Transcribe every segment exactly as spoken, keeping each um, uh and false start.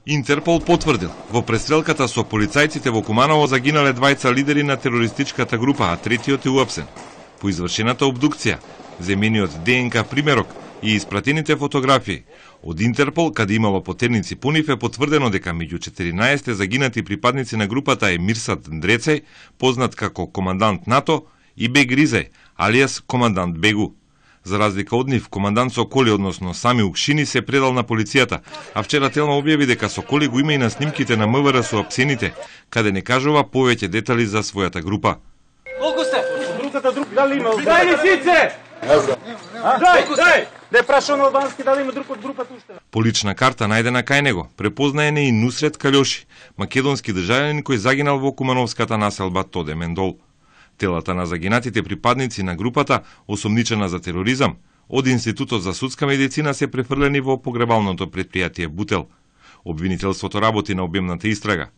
Интерпол потврдил, во престрелката со полицајците во Куманово загинале двајца лидери на терористичката група, а третиот е уапсен. По извршената обдукција, земениот ДНК примерок и испратените фотографии од Интерпол, каде имало потерници по нив, е потврдено дека меѓу четиринаесет загинати припадници на групата е Мирсат Ндрецеј, познат како командант НАТО, и Бег Ризај, алијас командант Бегу. За разлика од нив, командант Соколи, односно Сами Укшини, се предал на полицијата, а вчера Телма објави дека Соколи го има и на снимките на МВР со апсените, каде не кажува повеќе детали за својата група. Колку сте? Другата друг, дали има? Дај лисице! Не знам. Дај, дај! Не праша на албански дали има друг од групата уште. По лична карта најдена кај него, препознаен е и Нусрет Калјоши, македонски државјанин кој загинал во кумановската населба Тоде Мендол. Телата на загинатите припадници на групата, осомничена за тероризам, од Институтот за судска медицина се префрлени во погребалното предпријатие Бутел. Обвинителството работи на обемната истрага.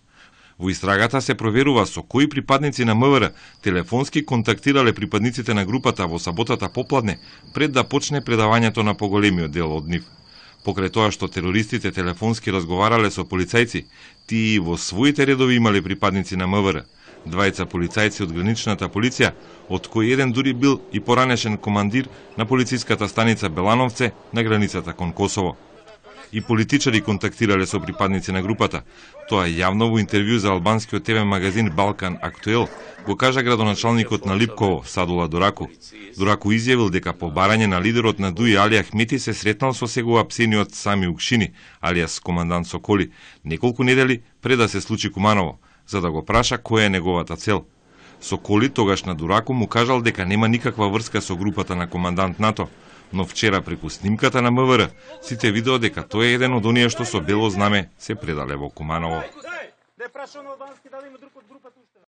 Во истрагата се проверува со кои припадници на МВР телефонски контактирале припадниците на групата во саботата попладне, пред да почне предавањето на поголемиот дел од нив. Покрај тоа што терористите телефонски разговарале со полицајци, тие во своите редови имале припадници на МВР. Двајца полицајци од граничната полиција, од кој еден дури бил и поранешен командир на полициската станица Белановце на границата кон Косово. И политичари контактирале со припадници на групата. Тоа јавно во интервју за албанскиот ТВ магазин Балкан Актуел го кажа градоначалникот на Липково, Садула Дораку. Дораку изјавил дека по барање на лидерот на Дуи Али Ахмети се сретнал со сега апсениот Сами Укшини, алијас командант Соколи, неколку недели пред да се случи Куманово, за да го праша која е неговата цел. Соколи тогаш на Дураку му кажал дека нема никаква врска со групата на командант НАТО, но вчера преку снимката на МВР сите видео дека тој е еден од оние што со бело знаме се предале во Куманово.